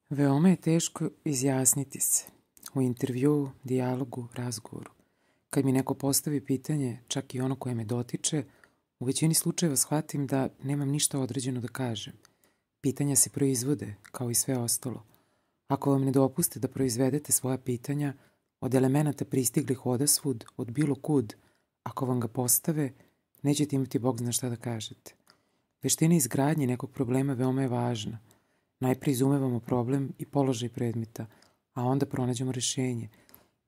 Veoma je teško izjasniti se u intervjuu, dijalogu, razgovoru. Kad mi neko postavi pitanje, čak i ono koje me dotiče, u većini slučajeva shvatim da nemam ništa određeno da kažem. Pitanja se proizvode, kao i sve ostalo. Ako vam ne dopuste da proizvedete svoja pitanja, od elemenata pristiglih odasvud, od bilo kud, ako vam ga postave, nećete imati Bog zna šta da kažete. Veština izgradnje nekog problema veoma je važna. Najprije izumevamo problem i položaj predmeta, a onda pronađemo rešenje.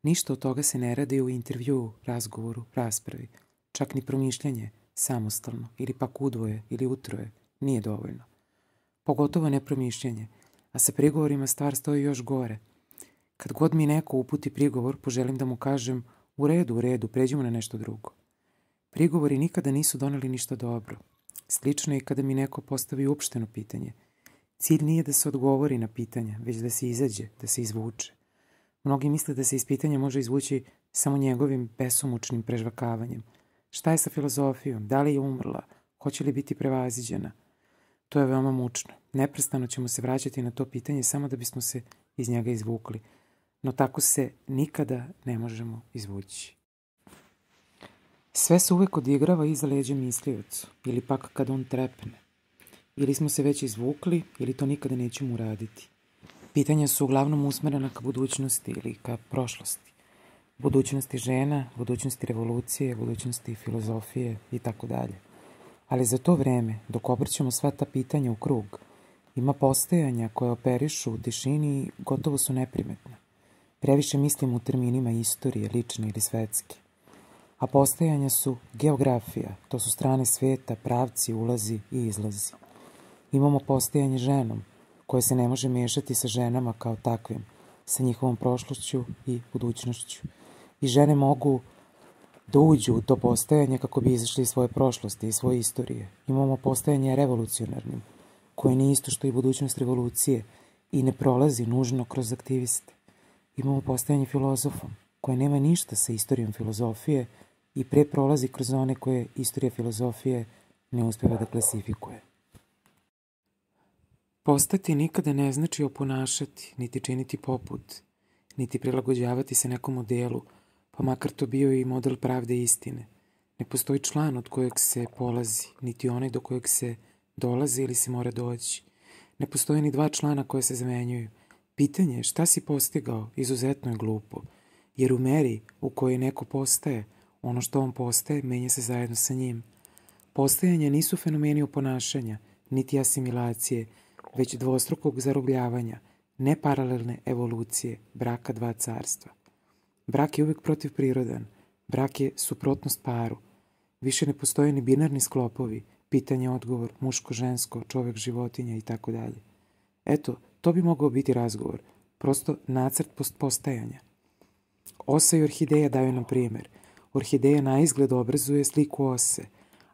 Ništa od toga se ne radi u intervjuu, razgovoru, raspravi. Čak ni promišljanje, samostalno, ili pak udvoje ili utroje, nije dovoljno. Pogotovo ne promišljanje, a sa prigovorima stvar stoji još gore. Kad god mi neko uputi prigovor, poželim da mu kažem u redu, pređimo na nešto drugo. Prigovori nikada nisu doneli ništa dobro. Slično je i kada mi neko postavi uopšteno pitanje. Cilj nije da se odgovori na pitanja, već da se izađe, da se izvuče. Mnogi misle da se iz pitanja može izvući samo njegovim besomučnim prežvakavanjem. Šta je sa filozofijom? Da li je umrla? Hoće li biti prevaziđena? To je veoma mučno. Neprestano ćemo se vraćati na to pitanje samo da bismo se iz njega izvukli. No tako se nikada ne možemo izvući. Sve se uvek odigrava iza leđa misliocu, ili pak kad on trepne. Ili smo se već izvukli, ili to nikada nećemo uraditi. Pitanja su uglavnom usmerena ka budućnosti ili ka prošlosti. Budućnosti žena, budućnosti revolucije, budućnosti filozofije i tako dalje. Ali za to vreme, dok obrćemo sva ta pitanja u krug, ima postojanja koje operišu u tišini i gotovo su neprimetna. Previše mislim u terminima istorije, lične ili svetske. A postojanja su geografija, to su strane sveta, pravci, ulazi i izlazi. Imamo postojanje ženom, koje se ne može miješati sa ženama kao takvim, sa njihovom prošlošću i budućnošću. I žene mogu da uđu u to postojanje kako bi izašli iz svoje prošlosti i svoje istorije. Imamo postojanje revolucionarnim, koje nije isto što i budućnost revolucije i ne prolazi nužno kroz aktiviste. Imamo postojanje filozofom, koje nema ništa sa istorijom filozofije i pre prolazi kroz one koje istorija filozofije ne uspeva da klasifikuje. Postati nikada ne znači oponašati, niti činiti poput, niti prilagođavati se nekom modelu, pa makar to bio i model pravde i istine. Ne postoji član od kojeg se polazi, niti onaj do kojeg se dolazi ili se mora doći. Ne postoje ni dva člana koje se zamenjuju. Pitanje šta si postigao izuzetno je glupo, jer u meri u kojoj neko postaje, ono što on postaje menja se zajedno sa njim. Postojanje nisu fenomeni oponašanja, niti asimilacije, već dvostrukog zarobljavanja, ne paralelne evolucije, braka dva carstva. Brak je uvijek protivprirodan, brak je suprotnost paru. Više ne postoje ni binarni sklopovi, pitanje, odgovor, muško, žensko, čovek, životinja i tako dalje. Eto, to bi mogao biti razgovor, prosto nacrt postajanja. Osa i orhideja daju nam primjer. Orhideja na izgled obrazuje sliku ose,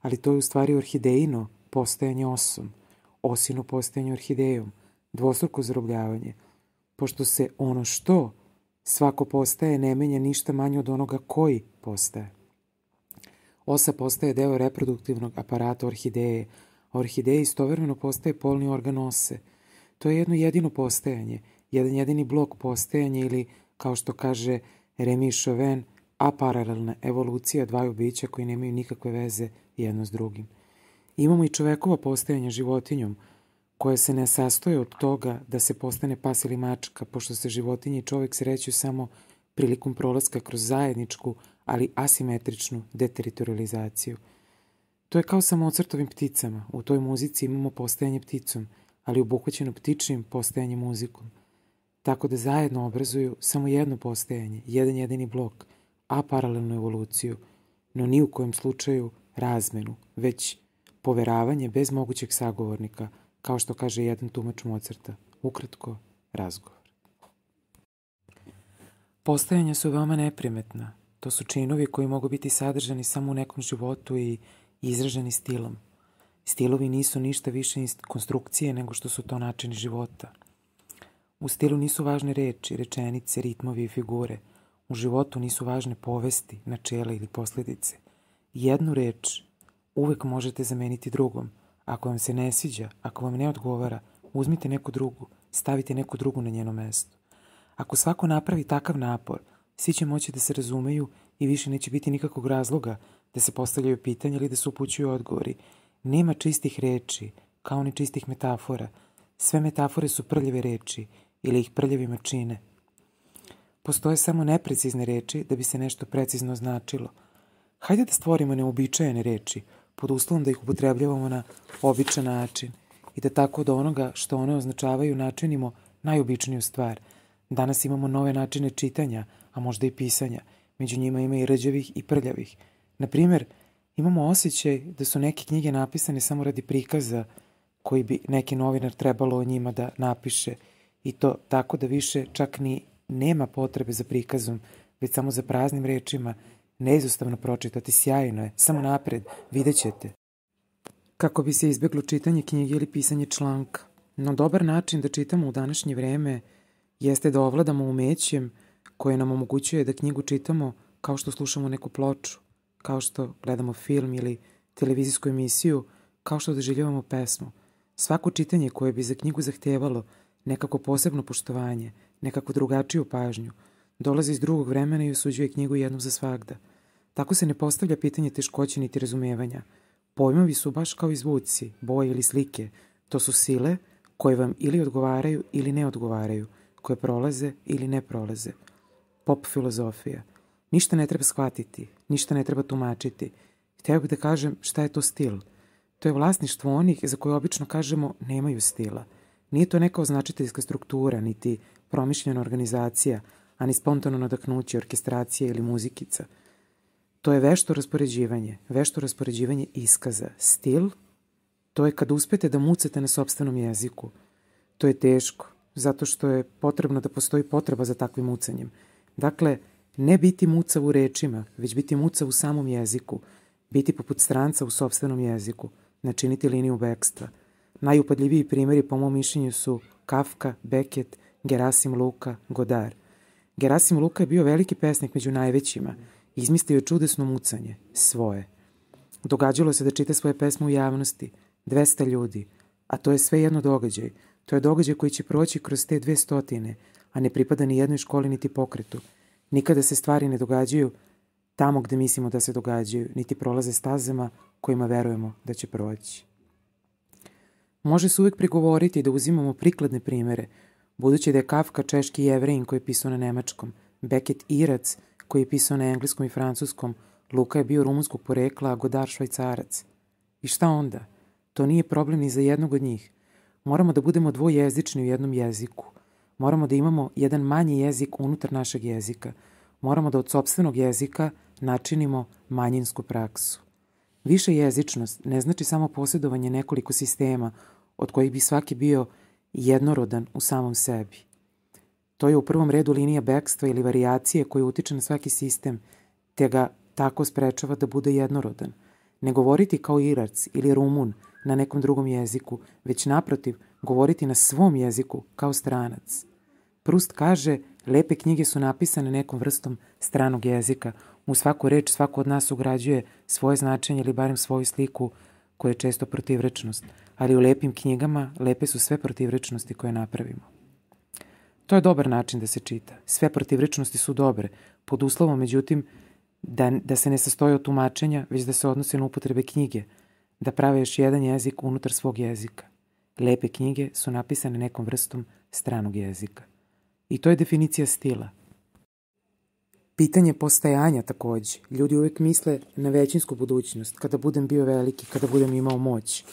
ali to je u stvari orhidejino postajanje osom, osino postajanje orhidejom, dvostruko zarobljavanje, pošto se ono što svako postaje ne menja ništa manje od onoga koji postaje. Osa postaje deo reproduktivnog aparata orhideje, a orhideja istovremeno postaje polni organ ose. To je jedno jedino postajanje, jedan jedini blok postajanja ili, kao što kaže Remy Chauvin, aparalelna evolucija dvaju bića koji nemaju nikakve veze jedno s drugim. Imamo i čovekova postajanja životinjom, koje se ne sastoje od toga da se postane pas ili mačka, pošto se životinje i čovek sreću samo prilikom prolaska kroz zajedničku, ali asimetričnu deteritorializaciju. To je kao sa Mozartovim pticama. U toj muzici imamo postajanje pticom, ali obuhvaćeno ptičijim postajanjem muzikom. Tako da zajedno obrazuju samo jedno postajanje, jedan jedini blok, a paralelnu evoluciju, no ni u kojem slučaju razmenu, već poveravanje bez mogućeg sagovornika, kao što kaže jedan tumač Mozarta, ukratko, razgovor. Postajanja su veoma neprimetna. To su činovi koji mogu biti sadržani samo u nekom životu i izraženi stilom. Stilovi nisu ništa više konstrukcije nego što su to načini života. U stilu nisu važne reči, rečenice, ritmovi i figure. U životu nisu važne povesti, načela ili posljedice. Jednu reč uvek možete zameniti drugom. Ako vam se ne sviđa, ako vam ne odgovara, uzmite neku drugu, stavite neku drugu na njeno mesto. Ako svako napravi takav napor, svi će moći da se razumeju i više neće biti nikakvog razloga da se postavljaju pitanja ili da se upućuju odgovori. Nema čistih reči, kao ni čistih metafora. Sve metafore su prljave reči ili ih prljavima čine. Postoje samo neprecizne reči da bi se nešto precizno značilo. Hajde da stvorimo neuobičajene reči, pod uslovom da ih upotrebljavamo na običan način i da tako od onoga što one označavaju načinimo najobičniju stvar. Danas imamo nove načine čitanja, a možda i pisanja. Među njima ima i rđavih i prljavih. Na primjer, imamo osjećaj da su neke knjige napisane samo radi prikaza koji bi neki novinar trebalo o njima da napiše i to tako da više čak ni nema potrebe za prikazom, već samo za praznim rečima, neizostavno pročitati, sjajno je, samo napred, vidjet ćete. Kako bi se izbjeglo čitanje knjige ili pisanje članka. No dobar način da čitamo u današnje vreme jeste da ovladamo umećem koje nam omogućuje da knjigu čitamo kao što slušamo neku ploču, kao što gledamo film ili televizijsku emisiju, kao što doživljavamo pesmu. Svako čitanje koje bi za knjigu zahtijevalo nekako posebno poštovanje, nekako drugačiju pažnju, dolazi iz drugog vremena i osuđuje knjigu jednom za svagda. Tako se ne postavlja pitanje teškoće niti razumijevanja. Pojmovi su baš kao i zvuci, boje ili slike. To su sile koje vam ili odgovaraju ili ne odgovaraju, koje prolaze ili ne prolaze. Pop filozofija. Ništa ne treba shvatiti, ništa ne treba tumačiti. Hteo bih da kažem šta je to stil. To je vlasništvo onih za koje obično kažemo nemaju stila. Nije to neka označiteljska struktura, niti promišljena organizacija, ani spontano nadahnuće, orkestracija ili muzikica. To je vešto raspoređivanje iskaza. Stil, to je kad uspete da mucate na sopstvenom jeziku. To je teško, zato što je potrebno da postoji potreba za takvim mucanjem. Dakle, ne biti mucav u rečima, već biti mucav u samom jeziku, biti poput stranca u sopstvenom jeziku, načiniti liniju bekstva. Najupadljiviji primjeri po mom mišljenju su Kafka, Beckett, Gerasim Luka, Godard. Gerasim Luka je bio veliki pesnik među najvećima. Izmislio je čudesno mucanje, svoje. Događalo se da čita svoje pesme u javnosti, 200 ljudi, a to je sve jedno događaj. To je događaj koji će proći kroz te 200, a ne pripada ni jednoj školi niti pokretu. Nikada se stvari ne događaju tamo gde mislimo da se događaju, niti prolaze stazama kojima verujemo da će proći. Može se uvijek prigovoriti da uzimamo prikladne primere, budući da je Kafka češki Jevrejin koji je pisao na nemačkom, Beckett Irac koji je pisao na engleskom i francuskom, Luka je bio rumunskog porekla, a Godard Švajcarac. I šta onda? To nije problem ni za jednog od njih. Moramo da budemo dvojezični u jednom jeziku. Moramo da imamo jedan manji jezik unutar našeg jezika. Moramo da od sopstvenog jezika načinimo manjinsku praksu. Višejezičnost ne znači samo posjedovanje nekoliko sistema od kojih bi svaki bio jednorodan u samom sebi. To je u prvom redu linija bekstva ili varijacije koja utiče na svaki sistem, te ga tako sprečava da bude jednorodan. Ne govoriti kao Irac ili Rumun na nekom drugom jeziku, već naprotiv govoriti na svom jeziku kao stranac. Proust kaže, lepe knjige su napisane nekom vrstom stranog jezika. U svaku reč svako od nas ugrađuje svoje značenje ili barem svoju sliku koja je često protivrečnost, ali u lepim knjigama lepe su sve protivrečnosti koje napravimo. To je dobar način da se čita. Sve protivrečnosti su dobre, pod uslovom, međutim, da se ne sastoje od tumačenja, već da se odnose na upotrebe knjige, da prave još jedan jezik unutar svog jezika. Lepe knjige su napisane nekom vrstom stranog jezika. I to je definicija stila. Pitanje postajanja takođe. Ljudi uvijek misle na većinsku budućnost, kada budem bio veliki, kada budem imao moć.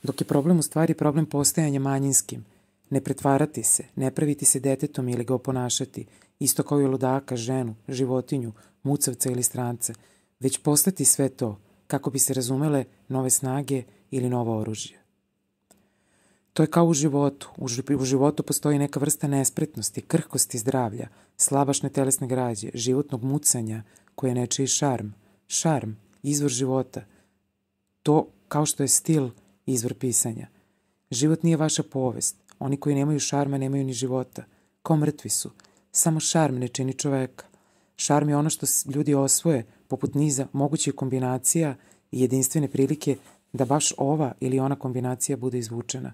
Dok je problem u stvari problem postajanja manjinskim. Ne pretvarati se, ne praviti se detetom ili ga oponašati, isto kao i ludaka, ženu, životinju, mucavca ili stranca, već postati sve to, kako bi se razumele nove snage ili novo oružje. To je kao u životu. U životu postoji neka vrsta nespretnosti, krhkosti zdravlja, slabašne telesne građe, životnog mucanja koje je nečiji šarm. Šarm, izvor života. To kao što je stil, izvor pisanja. Život nije vaša povest. Oni koji nemaju šarma nemaju ni života. Kao mrtvi su. Samo šarm ne čini čoveka. Šarm je ono što ljudi osvoje poput niza mogućih kombinacija i jedinstvene prilike da baš ova ili ona kombinacija bude izvučena.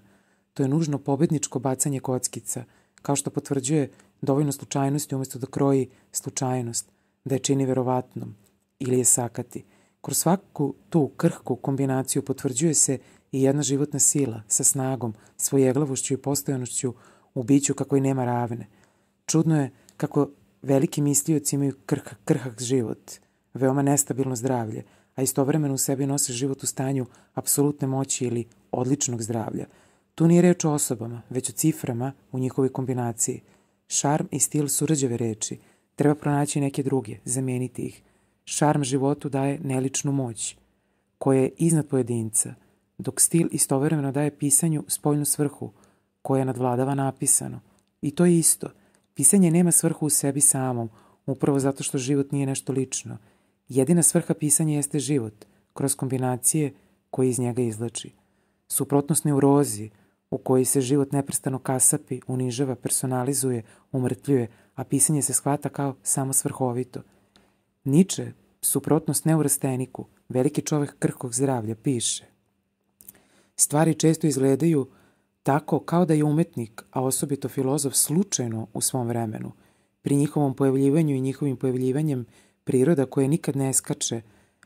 To je nužno pobedničko bacanje kockica, kao što potvrđuje dovoljno slučajnosti umjesto da kroji slučajnost, da je čini verovatnom ili je sakati. Kroz svaku tu krhku kombinaciju potvrđuje se i jedna životna sila sa snagom, svojeglavošću i postojanošću u biću kako i nema ravne. Čudno je kako veliki mislioci imaju krhak život, veoma nestabilno zdravlje, a istovremeno u sebi nose život u stanju apsolutne moći ili odličnog zdravlja. Tu nije reč o osobama, već o ciframa u njihovoj kombinaciji. Šarm i stil su rđave reči. Treba pronaći neke druge, zamijeniti ih. Šarm životu daje neličnu moć, koja je iznad pojedinca, dok stil istovremeno daje pisanju spoljnu svrhu, koja nadvladava napisano. I to je isto. Pisanje nema svrhu u sebi samom, upravo zato što život nije nešto lično. Jedina svrha pisanja jeste život, kroz kombinacije koje iz njega izvlači. Suprotnost neurozi, u kojoj se život neprestano kasapi, unižava, personalizuje, umrtvljuje, a pisanje se shvata kao samo svrhovito. Niče, suprotnost neurasteniku, veliki čovek krhkog zdravlja, piše: stvari često izgledaju tako kao da je umetnik, a osobito filozof, slučajno u svom vremenu. Pri njihovom pojavljivanju i njihovim pojavljivanjem priroda koja nikad ne skače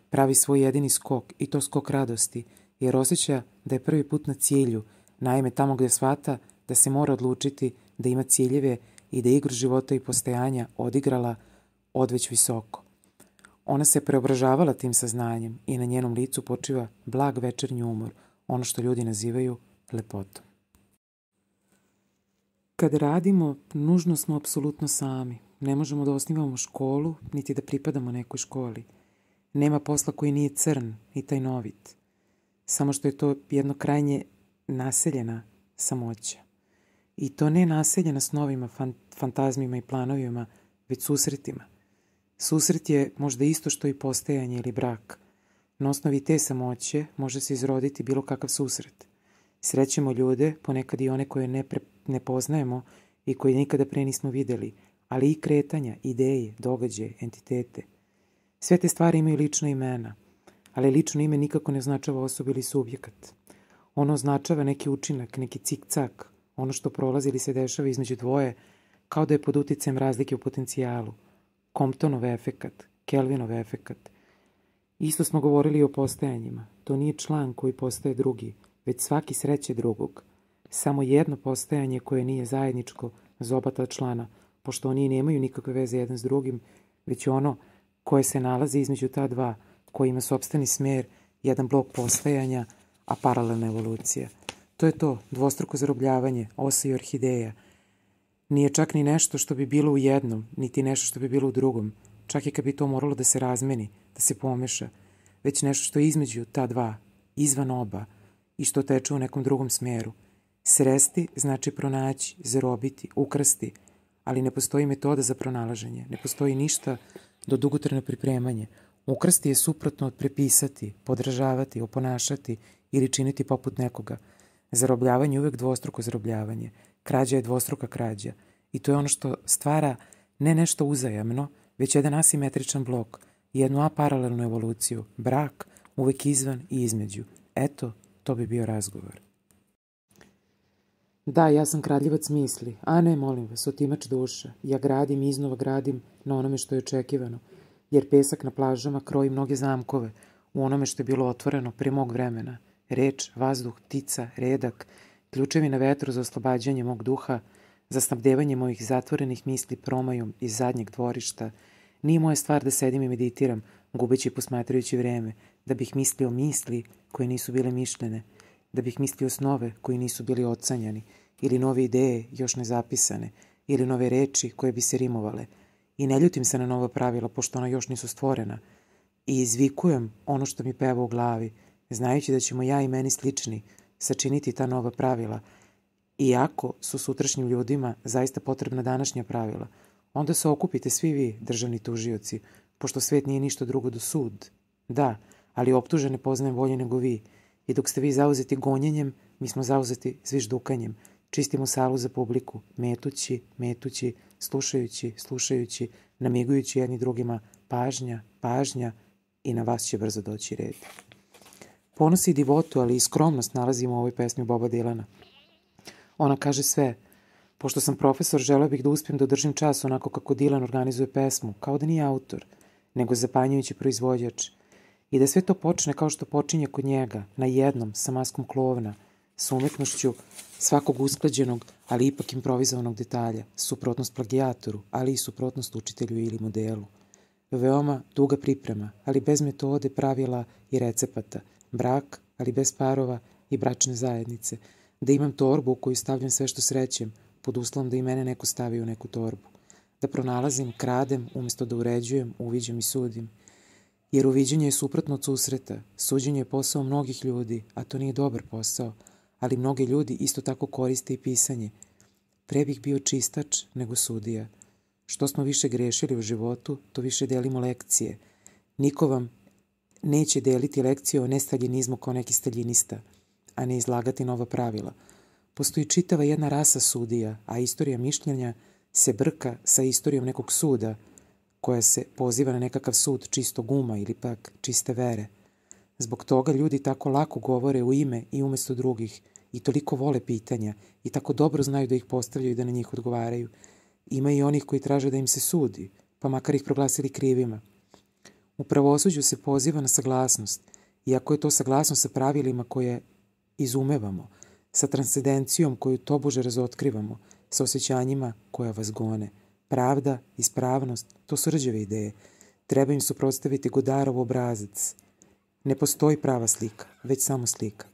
pravi svoj jedini skok, i to skok radosti, jer osjeća da je prvi put na cilju, naime tamo gdje shvata da se mora odlučiti, da ima ciljeve i da igru života i postojanja odigrala odveć visoko. Ona se preobražavala tim saznanjem i na njenom licu počiva blag večernji umor, ono što ljudi nazivaju lepotom. Kad radimo, nužno smo apsolutno sami. Ne možemo da osnivamo školu, niti da pripadamo nekoj školi. Nema posla koji nije crn i tajnovit. Samo što je to jedno krajnje naseljena samoća. I to ne naseljena snovima, fantazmima i planovima, već susretima. Susret je možda isto što i postojanje ili brak. Na osnovi te samoće može se izroditi bilo kakav susret. Srećemo ljude, ponekad i one koje ne poznajemo i koje nikada pre nismo videli, ali i kretanja, ideje, događaje, entitete. Sve te stvari imaju lična imena, ali lično ime nikako ne označava osobu ili subjekat. Ono označava neki učinak, neki cik-cak, ono što prolazi ili se dešava između dvoje, kao da je pod uticajem razlike u potencijalu. Comptonov efekat, Kelvinov efekat. Isto smo govorili i o postojanjima. To nije član koji postaje drugi, već svaki sreće drugog. Samo jedno postojanje koje nije zajedničko za oba ta člana, pošto oni nemaju nikakve veze jedan s drugim, već ono koje se nalazi između ta dva, koji ima sopstveni smer, jedan blok postajanja, a paralelna evolucija. To je to, dvostruko zarobljavanje, osa i orhideja. Nije čak ni nešto što bi bilo u jednom, niti nešto što bi bilo u drugom, čak i kad bi to moralo da se razmeni, da se pomeša, već nešto što je između ta dva, izvan oba, i što teče u nekom drugom smeru. Sresti znači pronaći, zarobiti, ukrasti, ali ne postoji metoda za pronalaženje, ne postoji ništa do dugotrajno pripremanje. Ukrasti je suprotno od prepisati, podražavati, oponašati ili činiti poput nekoga. Zarobljavanje je uvek dvostruko zarobljavanje. Krađa je dvostruka krađa. I to je ono što stvara ne nešto uzajamno, već jedan asimetričan blok, jednu aparalelnu evoluciju, brak, uvek izvan i između. Eto, to bi bio razgovor. Da, ja sam kradljivac misli, a ne, molim vas, otimač duša. Ja gradim i iznova gradim na onome što je očekivano, jer pesak na plažama kroji mnoge zamkove u onome što je bilo otvoreno pre mog vremena. Reč, vazduh, ptica, redak, ključevi na vetru za oslobađanje mog duha, za snabdevanje mojih zatvorenih misli promajom iz zadnjeg dvorišta. Nije moja stvar da sedim i meditiram, gubeći i posmatrajući vreme, da bih mislio misli koje nisu bile mišljene, da bih mislio snove koji nisu bili ocanjani, ili nove ideje još ne zapisane, ili nove reči koje bi se rimovale. I ne ljutim se na nova pravila, pošto ona još nisu stvorena. I izvikujem ono što mi peva u glavi, znajući da ćemo ja i meni slični sačiniti ta nova pravila. Iako su sutrašnjim ljudima zaista potrebna današnja pravila, onda se okupite svi vi, državni tužioci, pošto svet nije ništa drugo do sud. Da, ali optužene poznajem bolje nego vi. I dok ste vi zauzeti gonjenjem, mi smo zauzeti zviždukanjem. Čistimo salu za publiku, metući, slušajući, namigujući jedni drugima, pažnja i na vas će brzo doći red. Ponos i divotu, ali i skromnost nalazimo u ovoj pesmi Boba Dylana. Ona kaže sve. Pošto sam profesor, želeo bih da uspijem da održim čas onako kako Dylan organizuje pesmu, kao da nije autor, nego zapanjujući proizvođač. I da sve to počne kao što počinje kod njega, na jednom, sa maskom klovna, sa umetnošću svakog usklađenog, ali ipak improvizovanog detalja, suprotnost plagijatoru, ali i suprotnost učitelju ili modelu. Veoma duga priprema, ali bez metode, pravila i recepata. Brak, ali bez parova i bračne zajednice. Da imam torbu u koju stavljam sve što srećem, pod uslovom da i mene neko stavi u neku torbu. Da pronalazim, kradem, umjesto da uređujem, uviđam i sudim. Jer uviđanje je suprotno od susreta. Suđenje je posao mnogih ljudi, a to nije dobar posao, ali mnogi ljudi isto tako koriste i pisanje. Pre bih bio čistač nego sudija. Što smo više grešili u životu, to više delimo lekcije. Niko vam neće deliti lekcije o nestaljinizmu kao neki staljinista, a ne izlagati nova pravila. Postoji čitava jedna rasa sudija, a istorija mišljenja se brka sa istorijom nekog suda, koja se poziva na nekakav sud čistog uma ili pak čiste vere. Zbog toga ljudi tako lako govore u ime i umjesto drugih i toliko vole pitanja i tako dobro znaju da ih postavljaju i da na njih odgovaraju. Ima i onih koji traže da im se sudi, pa makar ih proglasili krivima. U pravosuđu se poziva na saglasnost, iako je to saglasnost sa pravilima koje izumevamo, sa transcendencijom koju tobože razotkrivamo, sa osjećanjima koja vas gone. Pravda, ispravnost, to su rđave ideje. Treba im suprotstaviti Godarov obrazac. Ne postoji prava slika, već samo slika.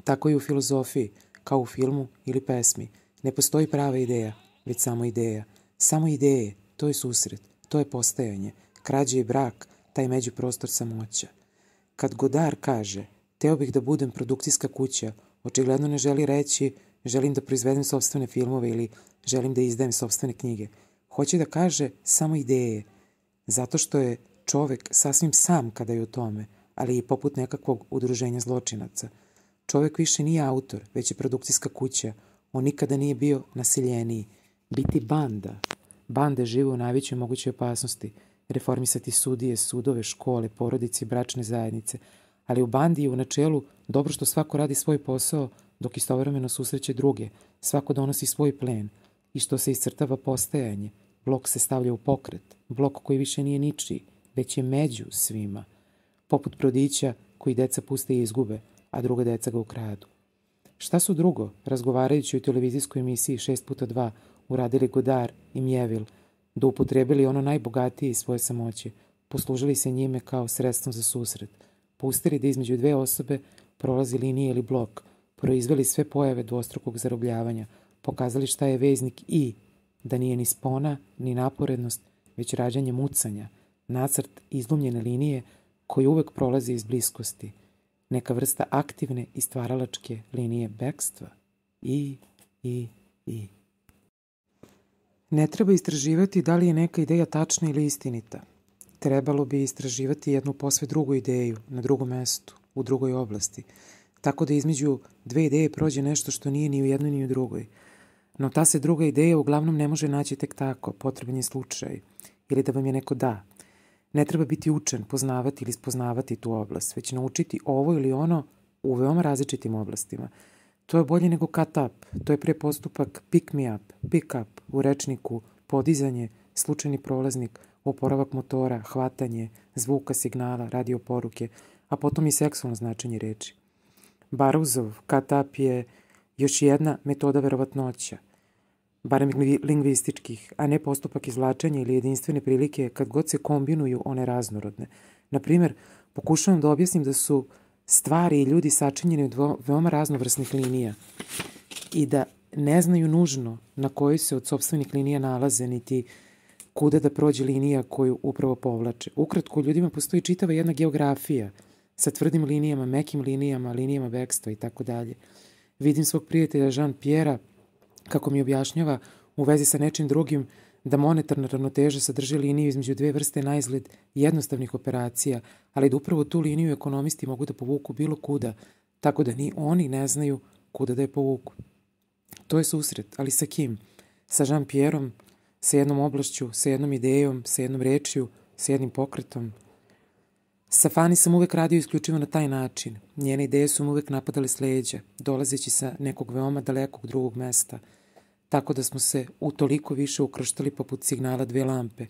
Tako i u filozofiji, kao u filmu ili pesmi. Ne postoji prava ideja, već samo ideja. Samo ideje, to je susret, to je postajanje. Krađe i brak, taj međuprostor samoća. Kad Godard kaže, teo bih da budem produkcijska kuća, očigledno ne želi reći, želim da proizvedem sopstvene filmove ili želim da izdajem sopstvene knjige. Hoće da kaže samo ideje, zato što je čovek sasvim sam kada je u tome, ali i poput nekakvog udruženja zločinaca. Čovek više nije autor, već je produkcijska kuća. On nikada nije bio nasiljeniji. Biti banda. Bande žive u najvećoj mogućoj opasnosti. Reformisati sudije, sudove, škole, porodice i bračne zajednice. Ali u bandi je u načelu dobro što svako radi svoj posao dok istovremeno susreće druge. Svako donosi svoj plen. I što se iscrtava postajanje. Blok se stavlja u pokret. Blok koji više nije ničiji, već je među svima. Poput brodića koji deca puste i izgube, a druga deca ga ukradu. Šta su drugo, razgovarajući u televizijskoj emisiji 6x2, uradili Godard i Mjevil, da upotrebili ono najbogatije iz svoje samoće, poslužili se njime kao sredstvom za susret, pustili da između dve osobe prolazi linija ili blok, proizveli sve pojave dvostrukog zarobljavanja, pokazali šta je veznik i, da nije ni spona, ni naporednost, već rađanje mucanja, nacrt izlomljene linije koji uvek prolazi iz bliskosti, neka vrsta aktivne i stvaralačke linije bekstva. I. Ne treba istraživati da li je neka ideja tačna ili istinita. Trebalo bi istraživati jednu posve drugu ideju, na drugom mestu, u drugoj oblasti, tako da između dve ideje prođe nešto što nije ni u jednoj ni u drugoj. No ta se druga ideja uglavnom ne može naći tek tako, potreban je slučaj, ili da vam je neko da. Ne treba biti učen, poznavati ili spoznavati tu oblast, već naučiti ovo ili ono u veoma različitim oblastima. To je bolje nego cut up, to je pre postupak pick me up, pick up, u rečniku, podizanje, slučajni prolaznik, oporavak motora, hvatanje, zvuka, signala, radio poruke, a potom i seksualno značenje reči. Baruzov cut up je još jedna metoda verovatnoća, barem lingvističkih, a ne postupak izvlačenja ili jedinstvene prilike kad god se kombinuju one raznorodne. Naprimjer, pokušavam da objasnim da su stvari i ljudi sačinjeni od veoma raznovrsnih linija i da ne znaju nužno na kojoj se od sopstvenih linija nalaze, niti kuda da prođe linija koju upravo povlače. Ukratko, u ljudima postoji čitava jedna geografija sa tvrdim linijama, mekim linijama, linijama bekstva i tako dalje. Vidim svog prijatelja Jean-Pierre kako mi objašnjava u vezi sa nečim drugim da monetarna ravnoteža sadrži liniju između dve vrste naizgled jednostavnih operacija, ali da upravo tu liniju ekonomisti mogu da povuku bilo kuda, tako da ni oni ne znaju kuda da je povuku. To je susret, ali sa kim? Sa Jean-Pierreom, sa jednom oblašću, sa jednom idejom, sa jednom rečju, sa jednim pokretom. Sa Fani sam uvek radio isključivo na taj način. Njene ideje su me uvek napadale s leđa, dolazeći sa nekog veoma dalekog drugog mesta, tako da smo se utoliko više ukrštali poput signala dve lampe.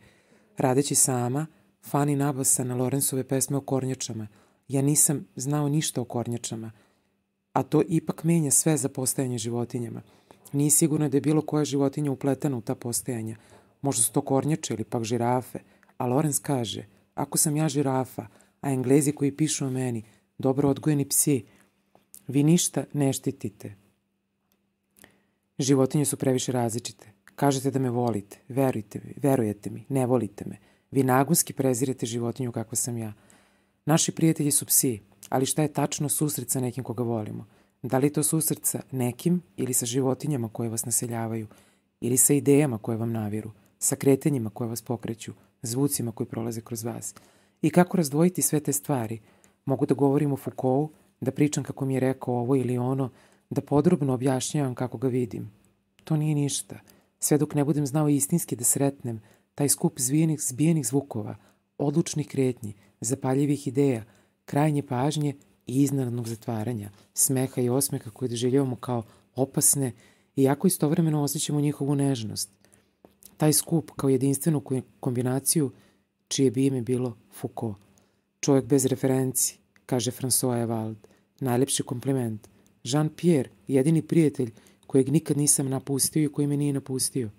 Radeći sama, Fani nabasa na Lorenzove pesme o kornjačama. Ja nisam znao ništa o kornjačama, a to ipak menja sve za postajanje životinjama. Nije sigurno da je bilo koja životinja upletena u ta postajanja. Možda su to kornjače ili pak žirafe, a Lorenz kaže, ako sam ja žirafa, a Englezi koji pišu o meni, dobro odgojeni psi, vi ništa ne štitite. Životinje su previše različite. Kažete da me volite, verujete mi, ne volite me. Vi nagonski prezirete životinju kakva sam ja. Naši prijatelji su psi, ali šta je tačno susret sa nekim koga volimo? Da li je to susret sa nekim ili sa životinjama koje vas naseljavaju, ili sa idejama koje vam naviru, sa kretanjima koje vas pokreću, zvucima koji prolaze kroz vas? I kako razdvojiti sve te stvari? Mogu da govorim o Foucaultu, da pričam kako mi je rekao ovo ili ono, da podrobno objašnjavam kako ga vidim. To nije ništa. Sve dok ne budem znao istinski da sretnem taj skup zbijenih zvukova, odlučnih kretnji, zapaljivih ideja, krajnje pažnje i iznenadnog zatvaranja, smeha i osmeha koje doživljavamo kao opasne, iako istovremeno osjećamo njihovu nežnost. Taj skup kao jedinstvenu kombinaciju čije bi ime bilo Foucault. Čovjek bez referenci, kaže François Evald, najlepši kompliment. Jean-Pierre, jedini prijatelj kojeg nikad nisam napustio i koji me nije napustio.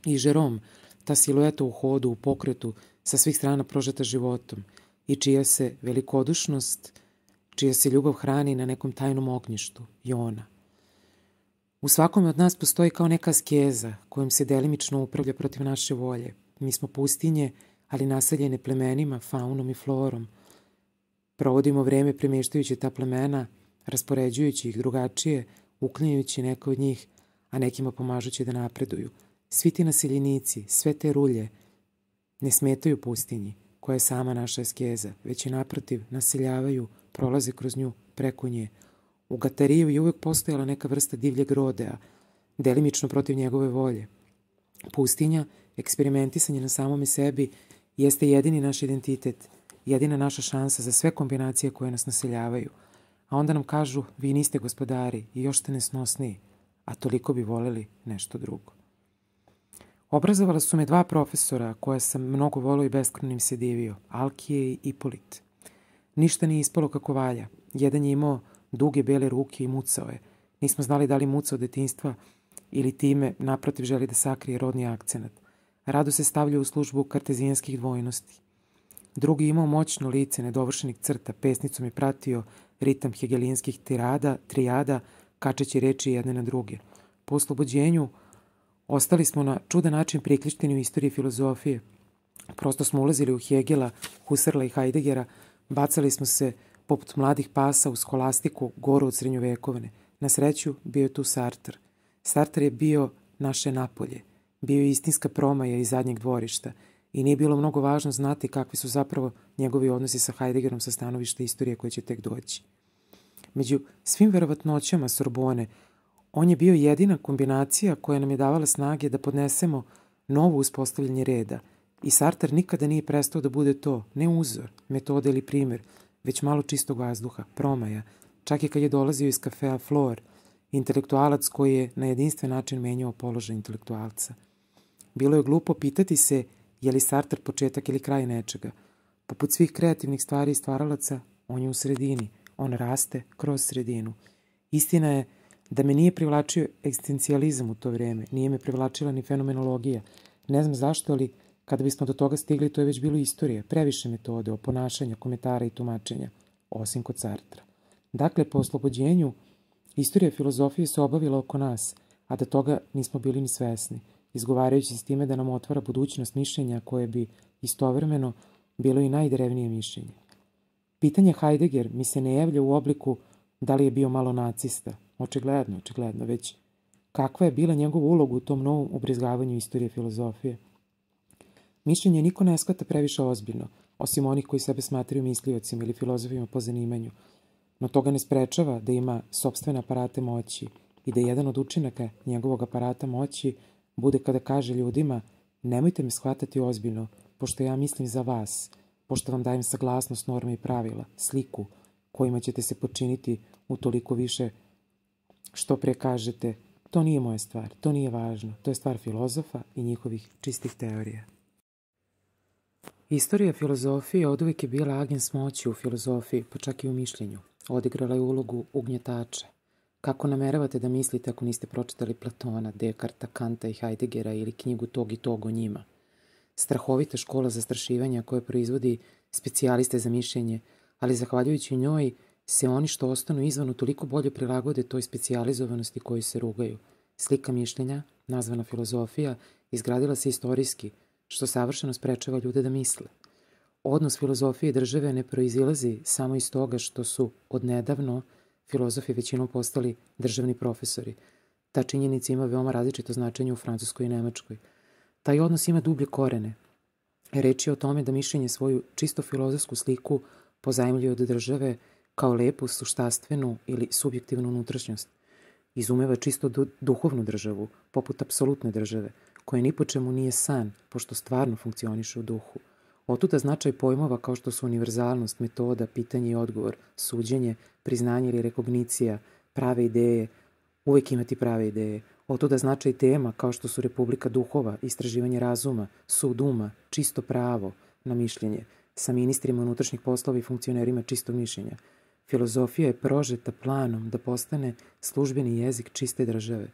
I Jérôme, ta silueta u hodu, u pokretu, sa svih strana prožeta životom i čija se velikodušnost, čija se ljubav hrani na nekom tajnom ognjištu, Jona. U svakome od nas postoji kao neka askeza kojom se delimično upravlja protiv naše volje. Mi smo pustinje, ali naseljene plemenima, faunom i florom. Provodimo vreme premještajući ta plemena, raspoređujući ih drugačije, uklanjajući neke od njih, a nekima pomažući da napreduju. Svi ti naseljenici, sve te rulje, ne smetaju pustinji, koja je sama naša askeza, već i naprotiv naseljavaju, prolaze kroz nju, preko nje. U Gatariju je uvek postojala neka vrsta divljeg rodea, delimično protiv njegove volje. Pustinja, eksperimentisanje na samome sebi, jeste jedini naš identitet, jedina naša šansa za sve kombinacije koje nas naseljavaju. A onda nam kažu, vi niste gospodari i još ste nesnosniji, a toliko bi voleli nešto drugo. Obrazovala su me dva profesora koja sam mnogo volio i beskrajno im se divio, Alkije i Ipolit. Ništa nije ispalo kako valja. Jedan je imao duge bele ruke i mucao je. Nismo znali da li muca od detinjstva ili time naprotiv želi da sakrije rodni akcenat. Rado se stavlja u službu kartezijanskih dvojnosti. Drugi je imao moćno lice nedovršenih crta, pesnicom je pratio ritam hegelijanskih trijada, kačeći reči jedne na druge. Po oslobođenju ostali smo na čudan način priklišteni u istoriji filozofije. Prosto smo ulazili u Hegela, Husserla i Heideggera, bacali smo se poput mladih pasa u skolastiku goru od srednjovekovne. Na sreću bio je tu Sartre. Sartre je bio naše Napolje. Bio je istinska promaja iz zadnjeg dvorišta i nije bilo mnogo važno znati kakvi su zapravo njegovi odnosi sa Heideggerom sa stanovišta istorije koje će tek doći. Među svim verovatnoćama Sorbone, on je bio jedina kombinacija koja nam je davala snage da podnesemo novo uspostavljanje reda. I Sartre nikada nije prestao da bude to, ne uzor, metoda ili primer, već malo čistog vazduha, promaja, čak i kad je dolazio iz kafea Flor, intelektualac koji je na jedinstven način menjao položaj intelektualca. Bilo je glupo pitati se je li Sartre početak ili kraj nečega. Poput svih kreativnih stvari i stvaralaca, on je u sredini, on raste kroz sredinu. Istina je da me nije privlačio egzistencijalizam u to vreme, nije me privlačila ni fenomenologija. Ne znam zašto, ali kada bismo do toga stigli, to je već bilo istorija, previše metode, oponašanja, komentara i tumačenja, osim kod Sartra. Dakle, po oslobođenju, istorija filozofije se obavila oko nas, a da toga nismo bili ni svesni, izgovarajući s time da nam otvara budućnost mišljenja koje bi istovremeno bilo i najdrevnije mišljenje. Pitanje Heidegger mi se ne javlja u obliku da li je bio malo nacista, očigledno, već kakva je bila njegova uloga u tom novom ubrizgavanju istorije filozofije. Mišljenje niko ne shvata previše ozbiljno, osim onih koji sebe smatraju misliocima ili filozofima po zanimanju, no toga ne sprečava da ima sopstvene aparate moći i da jedan od učinaka njegovog aparata moći bude kada kaže ljudima nemojte me shvatati ozbiljno, pošto ja mislim za vas, pošto vam dajem saglasnost norme i pravila, sliku kojima ćete se počiniti utoliko više što pre kažete, to nije moja stvar, to nije važno, to je stvar filozofa i njihovih čistih teorija. Istorija filozofije oduvijek je bila agens moći u filozofiji, pa čak i u mišljenju. Odigrala je ulogu ugnjetača. Kako nameravate da mislite ako niste pročitali Platona, Dekarta, Kanta i Heideggera ili knjigu tog i tog o njima? Strahovita škola zastrašivanja koja proizvodi specijaliste za mišljenje, ali zahvaljujući njoj se oni što ostanu izvanu toliko bolje prilagode toj specijalizovanosti koju se rugaju. Slika mišljenja, nazvana filozofija, izgradila se istorijski, što savršeno sprečava ljude da misle. Odnos filozofije i države ne proizilazi samo iz toga što su odnedavno filozofi većinom postali državni profesori. Ta činjenica ima veoma različito značenje u Francuskoj i Nemačkoj. Taj odnos ima dublje korene. Reč je o tome da mišljenje svoju čisto filozofsku sliku pozajmljuje od države kao lepu, suštastvenu ili subjektivnu unutrašnjost. Izumeva čisto duhovnu državu, poput apsolutne države, koja ni po čemu nije san, pošto stvarno funkcioniše u duhu. Otuda značaj pojmova kao što su univerzalnost, metoda, pitanje i odgovor, suđenje, priznanje ili rekognicija, prave ideje, uvijek imati prave ideje. Otuda značaj tema kao što su republika duhova, istraživanje razuma, sud uma, čisto pravo na mišljenje, sa ministrima unutrašnjih poslova i funkcionerima čistog mišljenja. Filozofija je prožeta planom da postane službeni jezik čiste države.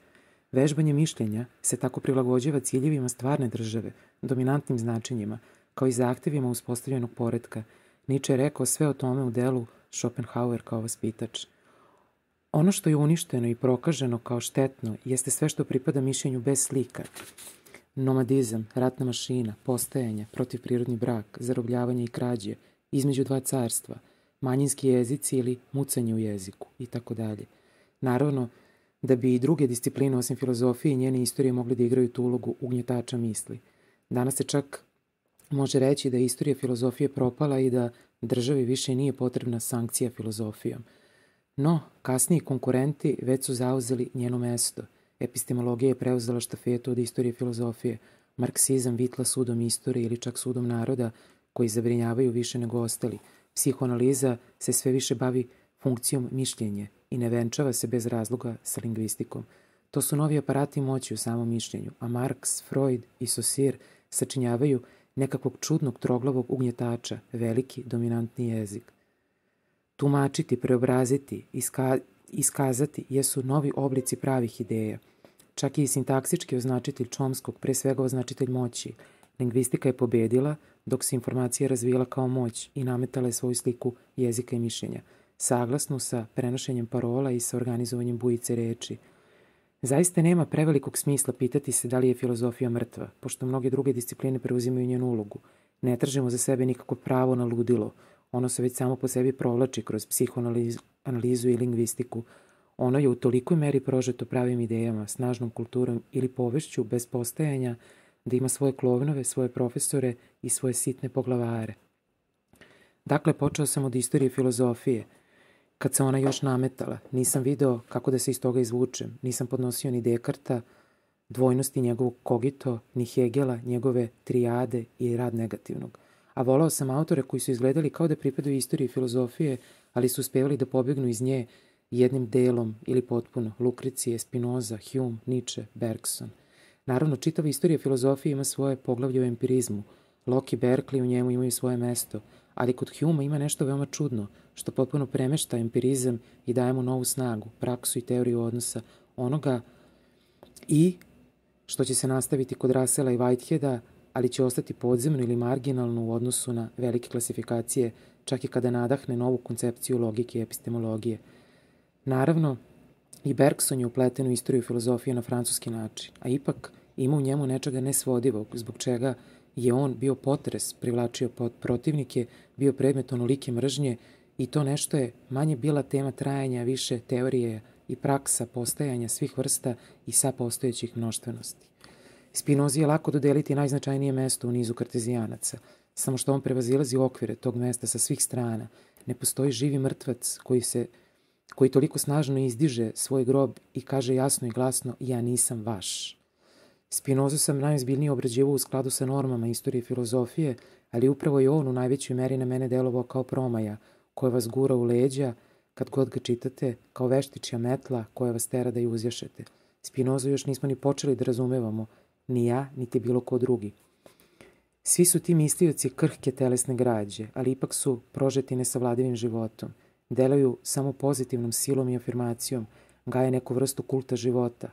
Vežbanje mišljenja se tako prilagođava ciljevima stvarne države, dominantnim značenjima, kao i zahtevima uspostavljenog poretka. Nietzsche je rekao sve o tome u delu Schopenhauer kao vaspitač. Ono što je uništeno i prokaženo kao štetno jeste sve što pripada mišljenju bez slika. Nomadizam, ratna mašina, postajanje, protivprirodni brak, zarobljavanje i krađe, između dva carstva, manjinski jezici ili mucanje u jeziku itd. Naravno, da bi i druge discipline osim filozofije i njene istorije mogli da igraju tu ulogu ugnjetača misli. Danas se čak može reći da je istorija filozofije propala i da državi više nije potrebna sankcija filozofijom. No, kasniji konkurenti već su zauzeli njeno mesto. Epistemologija je preuzela štafetu od istorije filozofije, marksizam vitla sudom istorije ili čak sudom naroda koji zabrinjavaju više nego ostali. Psihoanaliza se sve više bavi funkcijom mišljenja i ne venčava se bez razloga sa lingvistikom. To su novi aparati moći u samom mišljenju, a Marks, Freud i Saussure sačinjavaju nekakvog čudnog troglavog ugnjetača, veliki dominantni jezik. Tumačiti, preobraziti, iskazati jesu novi oblici pravih ideja. Čak i sintaksički označitelj Chomskog, pre svega označitelj moći. Lingvistika je pobedila dok se informacija razvijala kao moć i nametala je svoju sliku jezika i mišljenja, saglasnu sa prenošenjem parola i sa organizovanjem bujice reči. Zaista nema prevelikog smisla pitati se da li je filozofija mrtva, pošto mnoge druge discipline preuzimaju njenu ulogu. Ne tražimo za sebe nikako pravo na ludilo. Ono se već samo po sebi provlači kroz psihoanalizu i lingvistiku. Ono je u tolikoj meri prožeto pravim idejama, snažnom kulturom ili povešću bez postajanja da ima svoje klovnove, svoje profesore i svoje sitne poglavare. Dakle, počeo sam od istorije filozofije. Kad se ona još nametala, nisam video kako da se iz toga izvučem. Nisam podnosio ni Dekarta, dvojnosti njegovog kogito, ni Hegela, njegove trijade i rad negativnog. A volao sam autore koji su izgledali kao da pripadaju istoriji filozofije, ali su uspevali da pobegnu iz nje jednim delom ili potpuno. Lukrecije, Spinoza, Hume, Nietzsche, Bergson. Naravno, čitava istorija filozofije ima svoje poglavlje o empirizmu. Locke i Berkeley u njemu imaju svoje mesto, ali kod Humea ima nešto veoma čudno, što potpuno premešta empirizam i daje mu novu snagu, praksu i teoriju odnosa onoga i što će se nastaviti kod Russella i Whiteheada, ali će ostati podzemno ili marginalno u odnosu na velike klasifikacije, čak i kada nadahne novu koncepciju logike i epistemologije. Naravno, i Bergson je upleten u istoriju filozofije na francuski način, a ipak ima u njemu nečega nesvodivog, zbog čega je on bio potres, privlačio protivnike, bio predmet onolike mržnje i to nešto je manje bila tema trajanja, više teorije i praksa postajanja svih vrsta i sapostojećih mnoštvenosti. Spinozi je lako dodeliti najznačajnije mesto u nizu kartezijanaca, samo što on prevazilazi okvire tog mesta sa svih strana. Ne postoji živi mrtvac koji toliko snažno izdiže svoj grob i kaže jasno i glasno ja nisam vaš. Spinozu sam najozbiljnije obrađivao u skladu sa normama istorije filozofije, ali upravo je on u najvećoj meri na mene delovao kao promaja, koja vas gura u leđa kad god ga čitate, kao veštičja metla koja vas tera da ju uzjašete. Spinozu još nismo ni počeli da razumevamo, ni ja, niti bilo ko drugi. Svi su ti mislioci krhke telesne građe, ali ipak su prožeti nesavladivim životom. Delaju samo pozitivnom silom i afirmacijom, gaje neku vrstu kulta života.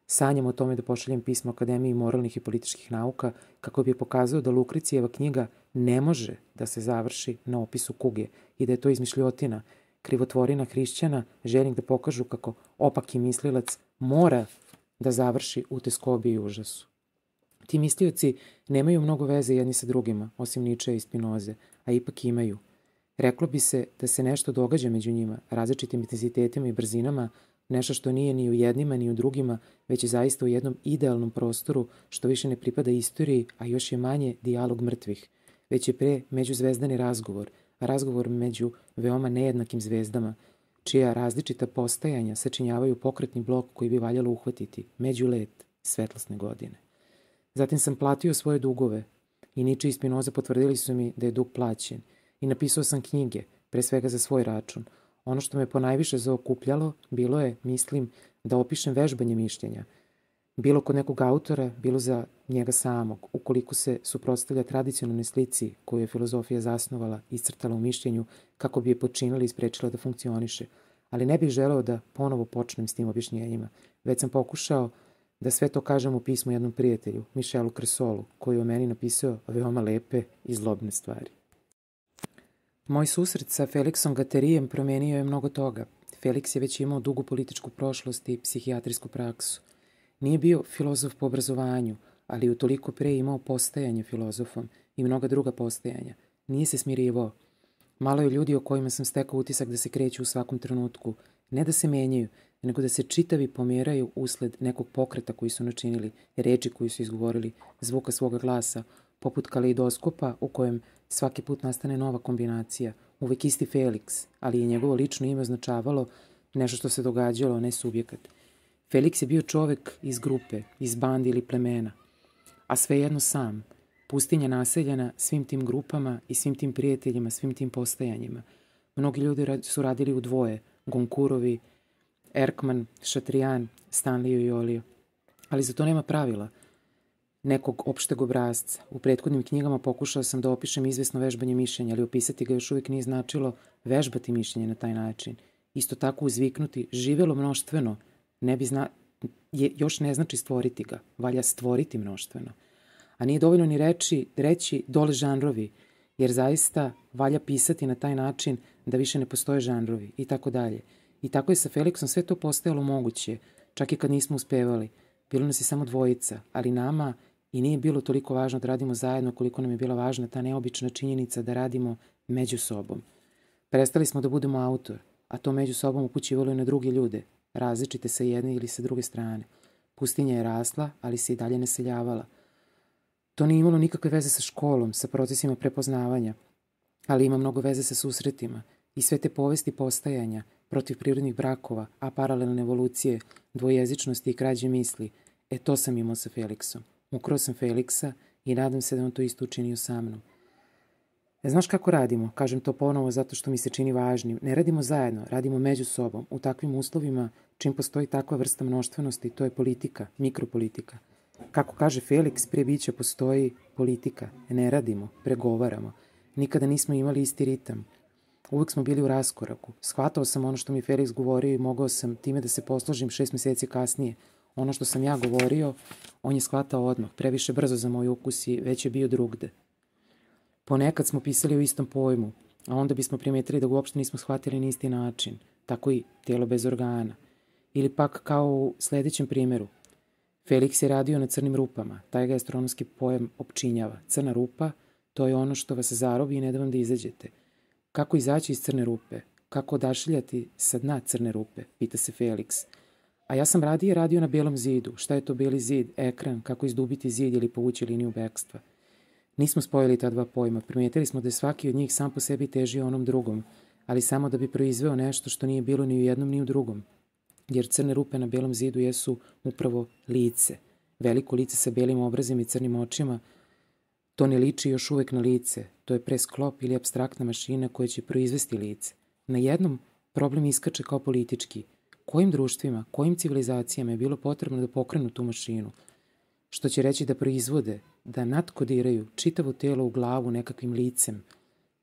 Sanjam o tome da pošaljem pismo Akademiji moralnih i političkih nauka kako bi pokazao da Lukrecijeva knjiga ne može da se završi na opisu kuge i da je to izmišljotina, krivotvorina hrišćana, željnih da pokažu kako opaki mislilac mora da završi u teskobi i užasu. Ti mislioci nemaju mnogo veze jedni sa drugima, osim Ničea i Spinoze, a ipak imaju. Reklo bi se da se nešto događa među njima, različitim intenzitetima i brzinama, nešto što nije ni u jednima ni u drugima, već je zaista u jednom idealnom prostoru što više ne pripada istoriji, a još je manje dijalog mrtvih, već je pre međuzvezdani razgovor među veoma nejednakim zvezdama, čija različita postajanja sačinjavaju pokretni blok koji bi valjalo uhvatiti, međulet svetlosne godine. Zatim sam platio svoje dugove i Niče i Spinoza potvrdili su mi da je dug plaćen i napisao sam knjige, pre svega za svoj račun. Ono što me ponajviše zaokupljalo bilo je, mislim, da opišem vežbanje mišljenja. Bilo kod nekog autora, bilo za njega samog, ukoliko se suprotstavlja tradicionalnoj slici koju je filozofija zasnovala i iscrtala u mišljenju kako bi je počinila i sprečila da funkcioniše. Ali ne bih želeo da ponovo počnem s tim objašnjenjima. Već sam pokušao da sve to kažem u pismu jednom prijatelju, Michelu Cresolu, koji je o meni napisao veoma lepe i zlobne stvari. Moj susret sa Felixom Gaterijem promenio je mnogo toga. Felix je već imao dugu političku prošlost i psihijatrijsku praksu. Nije bio filozof po obrazovanju, ali utoliko pre imao postajanje filozofom i mnoga druga postajanja. Nije se smirivao. Malo je ljudi o kojima sam stekao utisak da se kreću u svakom trenutku. Ne da se menjaju, nego da se čitavi pomeraju usled nekog pokreta koji su načinili, reči koji su izgovorili, zvuka svoga glasa, poput kaleidoskopa u kojem svaki put nastane nova kombinacija. Uvek isti Felix, ali je njegovo lično ime označavalo nešto što se događalo, a ne subjekat. Felix je bio čovek iz grupe, iz bandi ili plemena, a svejedno sam, pustinja naseljena svim tim grupama i svim tim prijateljima, svim tim postajanjima. Mnogi ljudi su radili u dvoje, Gonkurovi, Erkman, Šatrijan, Stanlio i Olio. Ali za to nema pravila, nekog opšteg obrazca. U prethodnim knjigama pokušao sam da opišem izvesno vežbanje mišljenja, ali opisati ga još uvijek nije značilo vežbati mišljenje na taj način. Isto tako uzviknuti živelo mnoštveno još ne znači stvoriti ga, valja stvoriti mnoštveno. A nije dovoljno ni reći dole žanrovi, jer zaista valja pisati na taj način da više ne postoje žanrovi i tako dalje. I tako je sa Felixom sve to postajalo moguće, čak i kad nismo uspevali. Bilo nas je samo dvojica, ali nama i nije bilo toliko važno da radimo zajedno koliko nam je bila važna ta neobična činjenica da radimo među sobom. Prestali smo da budemo autor, a to među sobom upućivalo je na druge ljude, različite sa jedne ili sa druge strane. Pustinja je rasla, ali se i dalje naseljavala. To nije imalo nikakve veze sa školom, sa procesima prepoznavanja, ali ima mnogo veze sa susretima i sve te povesti postajanja, protiv prirodnih brakova, a paralelne evolucije, dvojezičnosti i krađe misli. To sam imao sa Felixom. Ukrao sam Felixa i nadam se da on to isto učinio sa mnom. Znaš kako radimo? Kažem to ponovo zato što mi se čini važnim. Ne radimo zajedno, radimo među sobom. U takvim uslovima, čim postoji takva vrsta mnoštvenosti, to je politika, mikropolitika. Kako kaže Felix, prije bića postoji politika. Ne radimo, pregovaramo. Nikada nismo imali isti ritam. Uvijek smo bili u raskoraku. Shvatao sam ono što mi Felix govorio i mogao sam time da se posložim 6 meseci kasnije. Ono što sam ja govorio, on je shvatao odmah, previše brzo za moj ukus i već je bio drugde. Ponekad smo pisali o istom pojmu, a onda bismo primetili da ga uopšte nismo shvatili na isti način, tako i tijelo bez organa. Ili pak kao u sljedećem primjeru. Felix je radio na crnim rupama, taj ga astronomski pojam opčinjava. Crna rupa, to je ono što vas zarobi i ne da vam da izađete. Kako izaći iz crne rupe? Kako odašiljati sa dna crne rupe? Pita se Felix. A ja sam radio na belom zidu. Šta je to beli zid? Ekran, kako izdubiti zid ili povući liniju bekstva. Nismo spojili ta dva pojma. Primijetili smo da je svaki od njih sam po sebi težio onom drugom, ali samo da bi proizveo nešto što nije bilo ni u jednom ni u drugom. Jer crne rupe na belom zidu jesu upravo lice. Veliko lice sa belim obrazima i crnim očima. To ne liči još uvek na lice, to je presklop ili apstraktna mašina koja će proizvesti lice. Na jednom problem iskače kao politički. Kojim društvima, kojim civilizacijama je bilo potrebno da pokrenu tu mašinu? Što će reći da proizvode, da natkodiraju čitavo telo u glavu nekakvim licem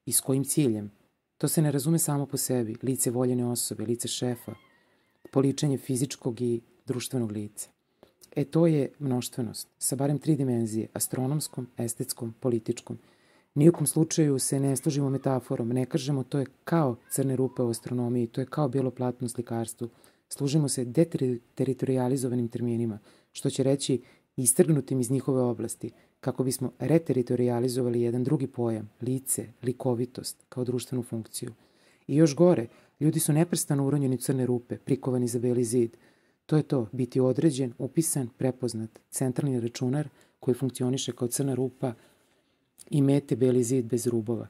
i s kojim ciljem? To se ne razume samo po sebi, lice voljene osobe, lice šefa, poličenje fizičkog i društvenog lica. To je mnoštvenost, sa barem 3 dimenzije, astronomskom, estetskom, političkom. Nijekom slučaju se ne služimo metaforom, ne kažemo to je kao crne rupe u astronomiji, to je kao bijelo platno u slikarstvu. Služimo se deteritorializovanim terminima, što će reći istrgnutim iz njihove oblasti, kako bismo reteritorializovali jedan drugi pojam, lice, likovitost, kao društvenu funkciju. I još gore, ljudi su neprestano uronjeni u crne rupe, prikovani za beli zid. To je to, biti određen, upisan, prepoznat, centralni računar koji funkcioniše kao crna rupa i mete beli zid bez rubova.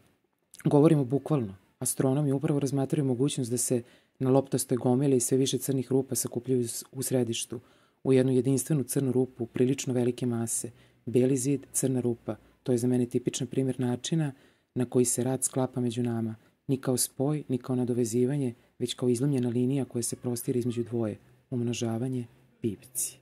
Govorimo bukvalno. Astronomi upravo razmatraju mogućnost da se na loptastoj gomili sve više crnih rupa sakupljaju u središtu, u jednu jedinstvenu crnu rupu, prilično velike mase. Beli zid, crna rupa. To je za mene tipičan primjer načina na koji se rad sklapa među nama. Ni kao spoj, ni kao nadovezivanje, već kao izlomljena linija koja se prostire između dvoje. Umnožavanje, pipci.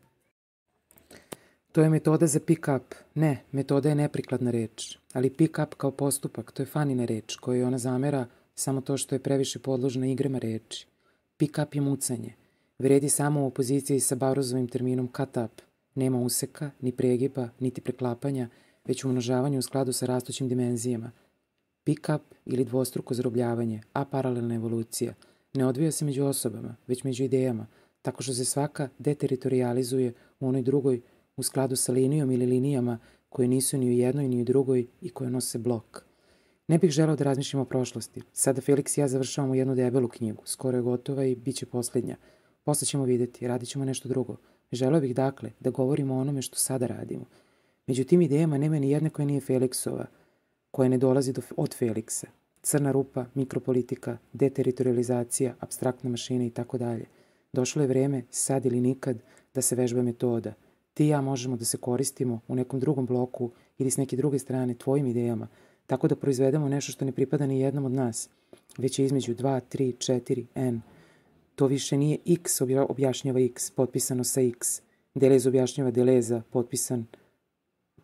To je metoda za pick-up. Ne, metoda je neprikladna reč. Ali pick-up kao postupak, to je Fanina reč, kojoj ona zamera samo to što je previše podložna igrama reči. Pick-up je mucanje. Vredi samo u opoziciji sa Barozovim terminom cut-up. Nema useka, ni pregiba, niti preklapanja, već umnožavanje u skladu sa rastućim dimenzijama. Pick-up ili dvostruko zarobljavanje, a paralelna evolucija, ne odvija se među osobama, već među idejama, tako što se svaka deteritorializuje u onoj drugoj u skladu sa linijom ili linijama koje nisu ni u jednoj ni u drugoj i koje nose blok. Ne bih želeo da razmišljam o prošlosti. Sada Felix i ja završavamo jednu debelu knjigu. Skoro je gotova i bit će posljednja. Posle ćemo vidjeti, radit ćemo nešto drugo. Želeo bih dakle da govorimo o onome što sada radimo. Među tim idejama nema ni jedne koja nije Felixova, koja ne dolazi od Felixa. Crna rupa, mikropolitika, deteritorializacija, apstraktna mašina i tako dalje. Došlo je vreme, sad ili nikad, da se vežba metoda. Ti i ja možemo da se koristimo u nekom drugom bloku ili s neke druge strane tvojim idejama, tako da proizvedemo nešto što ne pripada ni jednom od nas, već je između 2, 3, 4, n. To više nije x objašnjava x, potpisano sa x. Delez objašnjava Deleza,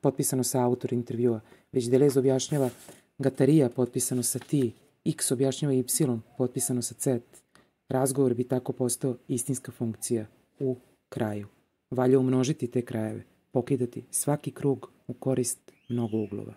potpisano sa autor intervjua, već Delez objašnjava Gatarija, potpisano sa ti, x objašnjava y, potpisano sa z. Razgovor bi tako postao istinska funkcija u kraju. Valja umnožiti te krajeve, pokidati svaki krug u korist mnogo uglova.